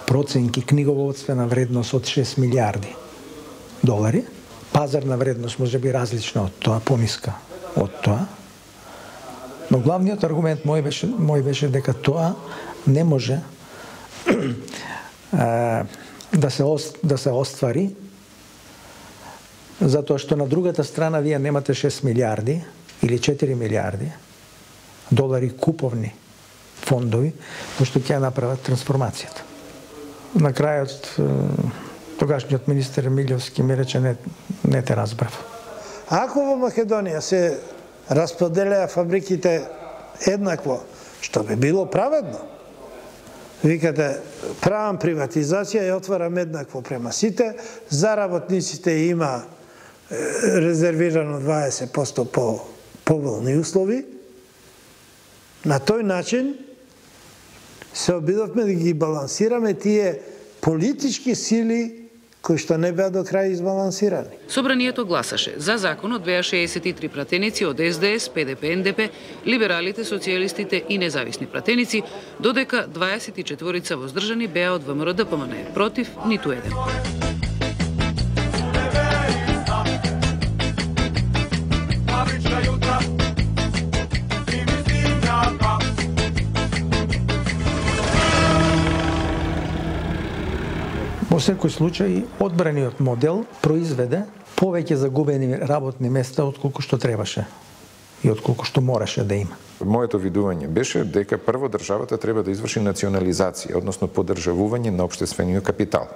проценки, книговодствена вредност од шест милиарди долари, пазарна вредност може би различна од тоа, пониска од тоа. Но главниот аргумент мој беше, мој беше дека тоа не може да се да се оствари, затоа што на другата страна вие немате шест милиарди или четири милиарди долари куповни фондови, кои што ќе направат трансформацијата. На крајот тогашниот министер Милјовски ми рече не, не те разбрав. Ако во Македонија се расподелеа фабриките еднакво, што би било праведно. Викате, правам приватизација и отварам еднакво према сите, за работниците има резервирано дваесет проценти по поволни услови. На тој начин се обидовме да ги балансираме тие политички сили кои што не беа до крај избалансирани. Собранието гласаше за законот беа шеесет и три пратеници од Ес Де Ес, Пе Де Пе, Ен Де Пе, либералите, социјалистите и независни пратеници, додека дваесет и четворица воздржани беа од Вэ Ем Ро Де Пе Ем Ен, против ниту еден. Во секој случај, одбраниот модел произведе повеќе загубени работни места отколку што требаше и отколку што мораше да има. Моето видување беше дека прво државата треба да изврши национализација, односно поддржавување на општествениот капитал,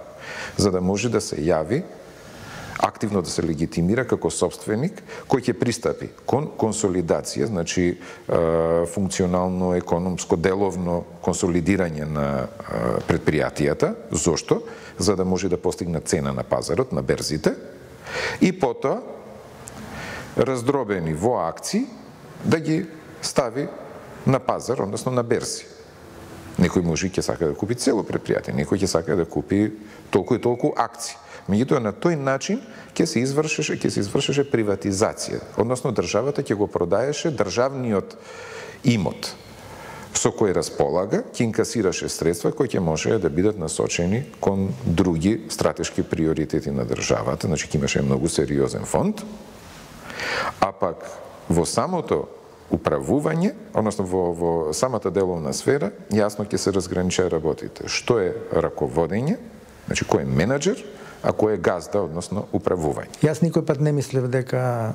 за да може да се јави активно да се легитимира како собственик кој ќе пристапи кон консолидација, значи функционално, економско, деловно консолидирање на предпријатијата. Зошто? За да може да постигне цена на пазарот, на берзите, и потоа раздробени во акции да ги стави на пазар, односно на берзи. Некој може ќе сака да купи цело предпријатие, некој ќе сака да купи толку и толку акции. Меѓутоа на тој начин ќе се извршеше, ќе се извршеше приватизација, односно државата ќе го продаеше државниот имот со кој располага, ќе инкасираше средства кои ќе може да бидат насочени кон други стратешки приоритети на државата, значи ќе имаше многу сериозен фонд, а пак во самото управување, односно во, во самата деловна сфера, јасно ќе се разграничат работите. Што е раководење, значи кој е менеджер, а кој е газда, односно управување. Јас никој пат не мислев дека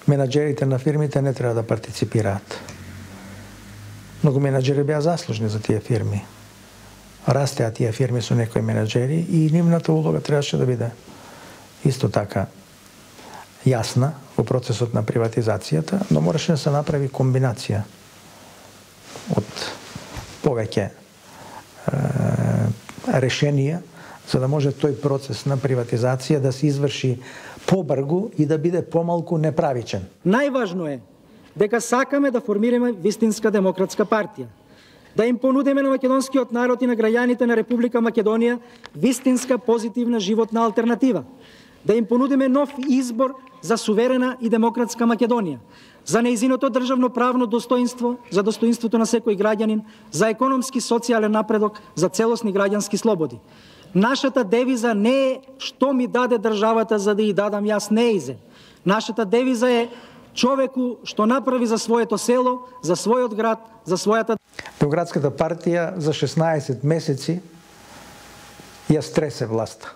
менаџерите на фирмите не треба да партиципираат. Многу менаџери беа заслужни за тие фирми. Растеа тие фирми со некои менаџери и нивната улога требаше да биде исто така јасна во процесот на приватизацијата, но мораше да се направи комбинација од повеќе е, решенија за да може тој процес на приватизација да се изврши побрзо и да биде помалку неправичен. Најважно е дека сакаме да формираме вистинска демократска партија, да им понудиме на македонскиот народ и на граѓаните на Република Македонија вистинска позитивна животна алтернатива, да им понудиме нов избор за суверена и демократска Македонија, за нејзиното државно правно достоинство, за достоинството на секој граѓанин, за економски социјален напредок, за целосни граѓански слободи. Нашата девиза не е што ми даде државата за да ја дадам јас неизе. Нашата девиза е човеку што направи за своето село, за својот град, за својата... Демократската партија за шеснаесет месеци ја стресе власта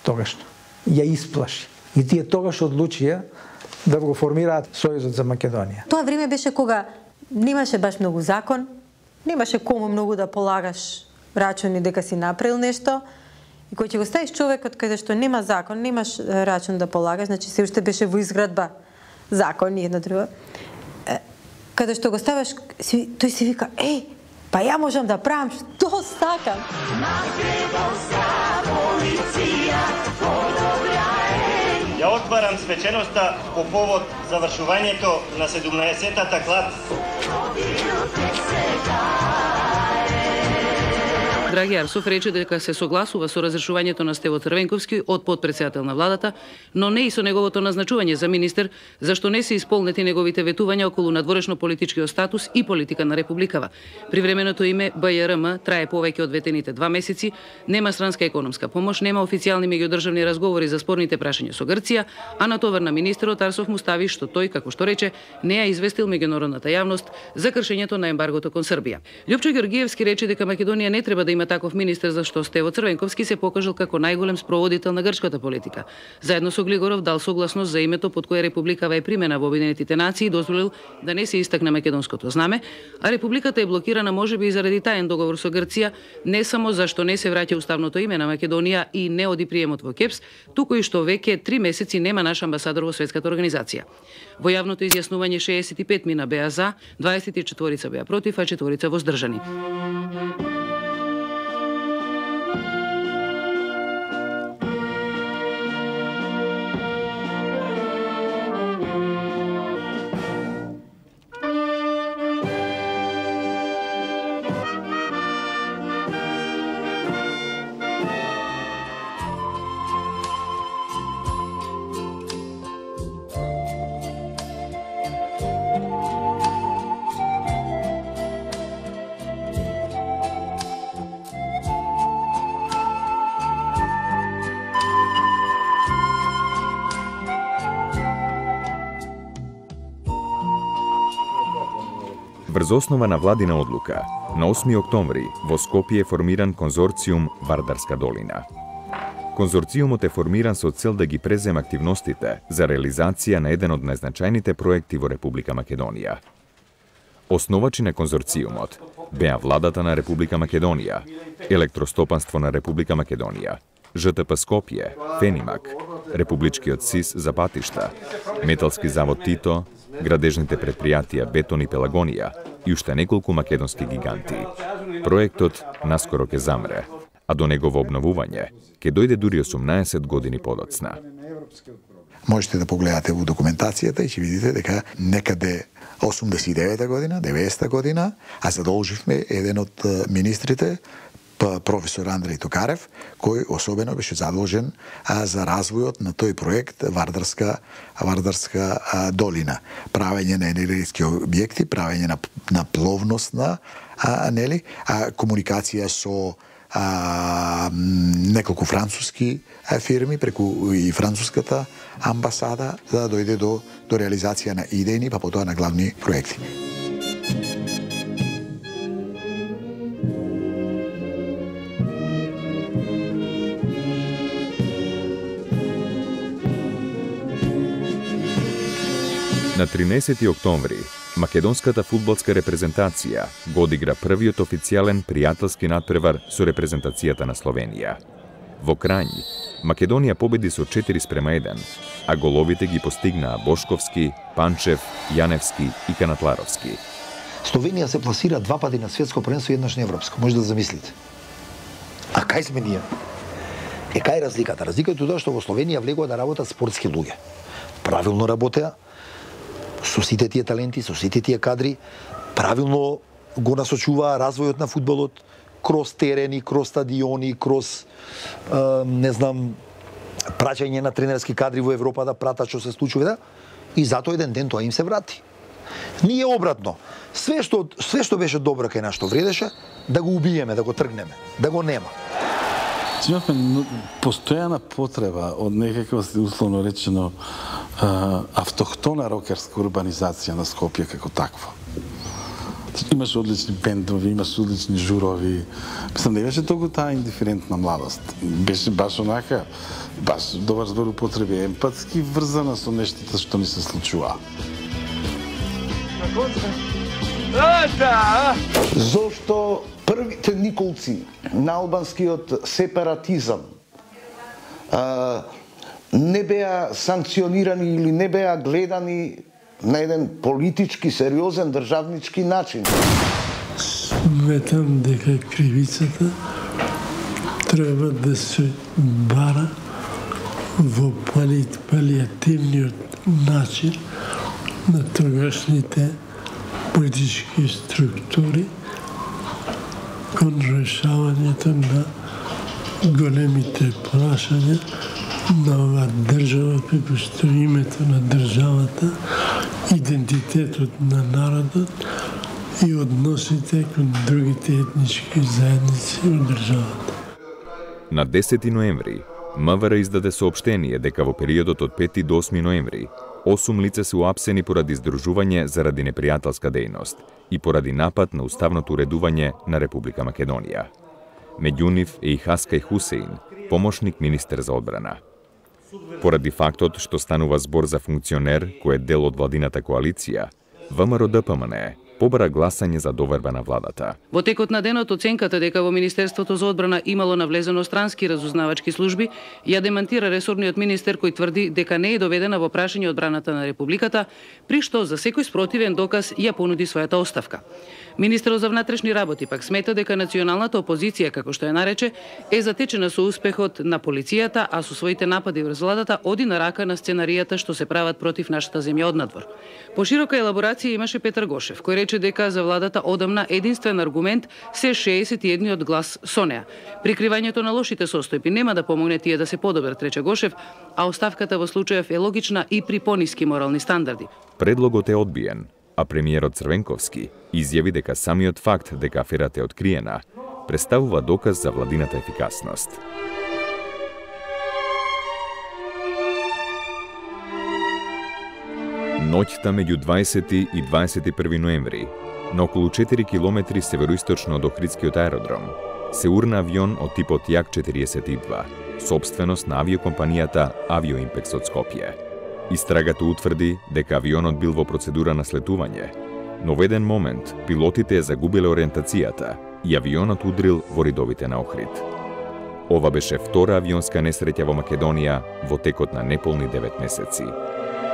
тогашно, ја исплаши. И тие тогаш одлучија да го формираат Сојузот за Македонија. Тоа време беше кога немаше баш многу закон, немаше кому многу да полагаш рачуни дека си направил нешто, и кој ќе го ставиш човекот каде што нема закон, немаш рачун да полагаш, значи се уште беше во изградба закон и едно друго. Каде што го ставаш, тој си вика, еј, па ја можам да правам што сакам. Ја отварам свеченоста по повод завршувањето на седумнаесеттата клас. Драги Арсов рече дека се согласува со разрешувањето на Стево Црвенковски од потпредседател на владата, но не и со неговото назначување за министер, зашто не се исполнети неговите ветувања околу надворешно политичкиот статус и политика на републикава. Привременото име Б Ј Р М трае повеќе од ветените два месеци, нема странска економска помош, нема официјални меѓудржавни разговори за спорните прашања со Грција, а на товар на министерот Арсов му стави што тој, како што рече, не ја известил меѓународната јавност за кршењето на ембаргото кон Србија. Љупчо Ѓоргиевски рече дека Македонија не треба да има таков министер, зашто Стево Црвенковски се покажал како најголем спроводител на грчката политика. Заедно со Глигоров дал согласност за името под кое републикава е примена во Обединетите нации и дозволил да не се истакне македонското знаме, а републиката е блокирана можеби и заради таен договор со Грција, не само зашто не се враќа уставното име на Македонија и не оди приемот во КЕПС, туку и што веќе три месеци нема наш амбасадор во светската организација. Во јавното изјаснување шеесет и пет мина беа за, дваесет и четири беа против, а четворица воздржани. Врз основа на владина одлука, на осми октомври во Скопје е формиран конзорциум Вардарска долина. Конзорциумот е формиран со цел да ги презема активностите за реализација на еден од најзначајните проекти во Република Македонија. Основачи на конзорциумот беа владата на Република Македонија, Електростопанство на Република Македонија, Ж Т П Скопје, Фенимак, Републичкиот СИС за патишта, Металски завод Тито, градежните предпријатија Бетон и Пелагонија и уште неколку македонски гиганти. Проектот наскоро ќе замре, а до негово обновување ќе дојде дури осумнаесет години подоцна. Можете да погледате во документацијата и ќе видите дека некаде осумдесет и девета година, деветдесета година, а задолживме еден од министрите, професор Андреј Токарев, кој особено беше задолжен а, за развојот на тој проект Вардарска, Вардарска а, долина. Правење на енергетски објекти, правење на, на пловностна а, нели, а, комуникација со а, неколку француски а, фирми преку и француската амбасада за да дојде до, до реализација на идејни, па потоа на главни проекти. На тринаесети октомври, македонската фудбалска репрезентација го одигра првиот официјален пријателски надпревар со репрезентацијата на Словенија. Во Крањ, Македонија победи со четири спрема еден, а головите ги постигнаа Бошковски, Панчев, Јаневски и Канатларовски. Словенија се пласира два пати на светско првенство и еднаш на европско, може да замислите. А кај сме ние? Е, кај е разликата? Разликата е тоа што во Словенија влегува да работат спортски луѓе. Правилно работеа, со сите тие таленти, со сите тие кадри, правилно го насочуваа развојот на фудбалот, кроз терени, кроз стадиони, кроз, е, не знам, праќање на тренерски кадри во Европа да пратат што се случува, и затоа еден ден тоа им се врати. Ние обратно, све што све што беше добро кај нас што вредеше, да го убиеме, да го тргнеме, да го нема. Имавме постојана потреба од некаква, условно речено, автохтона рокерска урбанизација на Скопје како такво. Имаш одлични бендови, имаш одлични журови. Мислам, не беше толку таа индиферентна младост. Беше баш онака, баш добар збор употреби, емпатски врзана со нештата што ни се случува. Зошто првите николци на албанскиот сепаратизам а, не беа санкционирани или не беа гледани на еден политички, сериозен, државнички начин? Сметам дека кривицата треба да се бара во палиативниот начин на тогашните политички структури кон решавањето на големите прашања на оваа држава, како што името на државата, идентитетот на народот и односите кон другите етнички заедници од државата. На десети ноември, МВР издаде соопштение дека во периодот од пети до осми ноември осум лица се уапсени поради здружување заради непријателска дејност и поради напад на уставното уредување на Република Македонија. Меѓу нив е и Хаскај Хусеин, помошник министер за одбрана. Поради фактот што станува збор за функционер кој е дел од владината коалиција, ВМРО-ДПМНЕ побара гласање за доверба на владата. Во текот на денот оценката дека во Министерството за одбрана имало навлезено странски разузнавачки служби ја демантира ресорниот министер кој тврди дека не е доведена во прашање одбраната на Републиката, при што за секој спротивен доказ ја понуди својата оставка. Министерот за внатрешни работи пак смета дека националната опозиција, како што ја нарече, е затечена со успехот на полицијата, а со своите напади врз владата оди на рака на сценаријата што се прават против нашата земја однадвор. Поширока елаборација имаше Петар Гошев, кој рече дека за владата одамна единствен аргумент се шеесет и едниот глас со неа. Прикривањето на лошите состојби нема да помогне тие да се подобрат, рече Гошев, а оставката во случајов е логична и при пониски морални стандарди. Предлогот е одбиен, а премиерот Црвенковски изјави дека самиот факт дека аферата е откриена представува доказ за владината ефикасност. Ноќта меѓу дваесети и дваесет и први ноември, на околу четири километри североисточно од Охридскиот аеродром, се урна авион од типот Јак четириесет и два, собственост на авиокомпанијата Авиоимпекс од Скопје. Истрагата утврди дека авионот бил во процедура на слетување, но во еден момент пилотите ја загубиле ориентацијата и авионот удрил во ридовите на Охрид. Ова беше втора авионска несреќа во Македонија во текот на неполни девет месеци.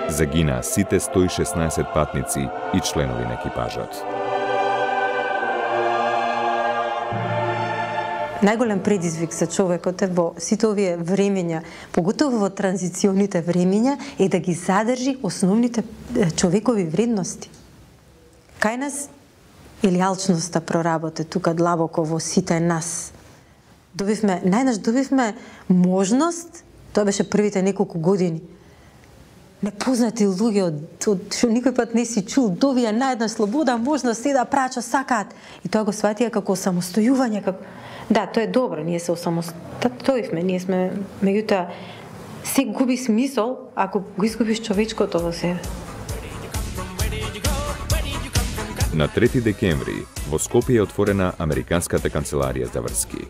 Загинаа сите сто и шеснаесет патници и членови на екипажот. Најголем предизвик за човекот е во сите овие времења, поготово во транзиционите времења, е да ги задржи основните човекови вредности. Кај нас или алчноста проработе тука длабоко во сите нас. Добивме, најнаш добивме можност, тоа беше првите неколку години, непознати луѓе од, од што никој пат не си чул, добија најдна слобода, можност се да прача сакаат. И тоа го сватија како самостојување, како да, тоа е добро, ние се осамостоивме, ние сме, меѓутоа, се губи смисол ако го изгубиш човечкото во себе. На трети декември во Скопје е отворена Американската канцеларија за врски.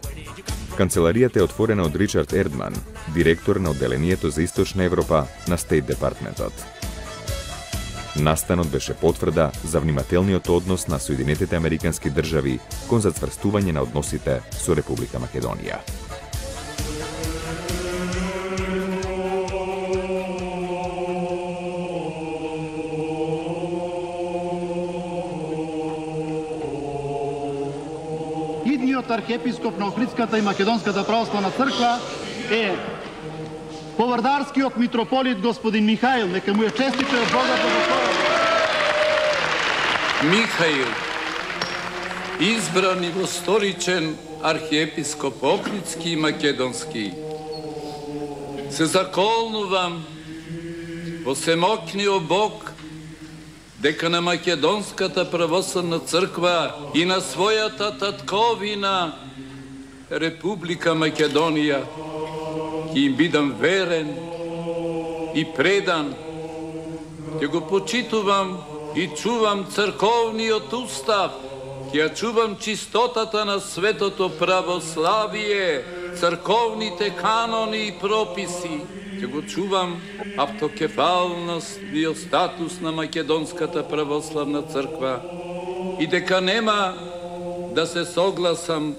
Канцеларијата е отворена од Ричард Ердман, директор на одделението за Источна Европа на Стейт Департментот. Настанот беше потврда за внимателниот однос на Соединетите Американски држави кон зацврстување на односите со Република Македонија. Идниот архиепископ на Охридската и Македонската православна црква е повардарскиот митрополит господин Михаил, нека му е честито од Бога благословен. Михаил, избран и восторичен архиепископ Охридски и Македонски, се заколнувам во семокниот Бог дека на Македонската православна црква и на својата татковина Република Македонија ќе им бидам верен и предан, ќе го почитувам и чувам црковниот устав, ќе ја чувам чистотата на светото православие, црковните канони и прописи, ќе го чувам автокефалност и статус на Македонската православна црква и дека нема да се согласам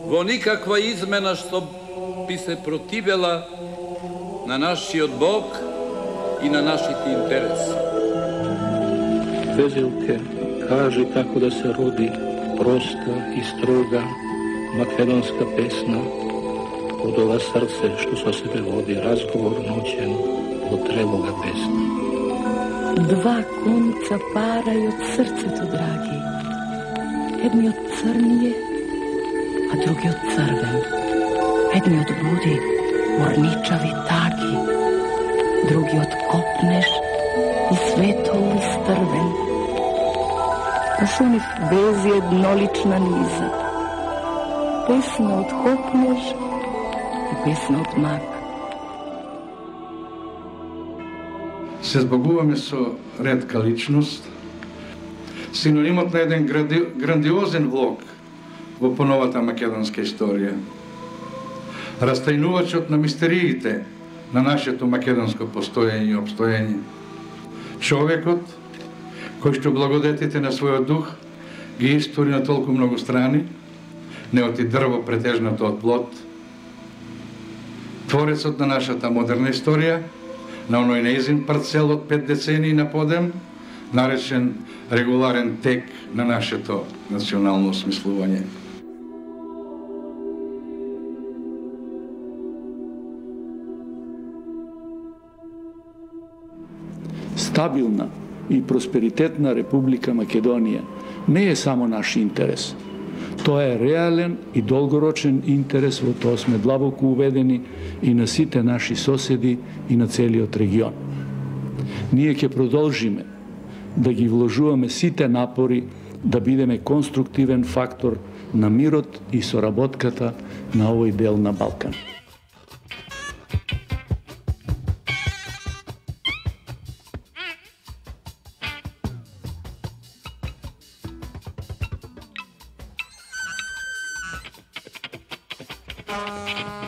во никаква измена што би се противела на нашиот Бог и на нашите интереси. Везелке, кажи како да се роди проста и строга македонска песна од ова срце што со себе води разговор ноќен во тревога песна. Два конца парај од срцето, драги. Едниот црније, а другиот црвен. Едниот буди орничави таги, другиот копнеш и светол изтрвен. А со нив вези еднолична низа. Песна од копнеш и песна од мак. Се збогуваме со ретка личност, синонимот на еден гранди... грандиозен влог во поновата македонска историја. Растајнувачот на мистериите на нашето македонско постоење и обстоење. Човекот кој што благодетите на својот дух ги истори на толку многу страни, неот и дрво претежното од плод. Творецот на нашата модерна историја, на оној неизин парцел од пет децении на подем, наречен регуларен тек на нашето национално осмислување. Стабилна и просперитетна Република Македонија не е само наш интерес. Тоа е реален и долгорочен интерес, во тоа сме длабоко уведени и на сите наши соседи и на целиот регион. Ние ќе продолжиме да ги вложуваме сите напори да бидеме конструктивен фактор на мирот и соработката на овој дел на Балкан. Thank you.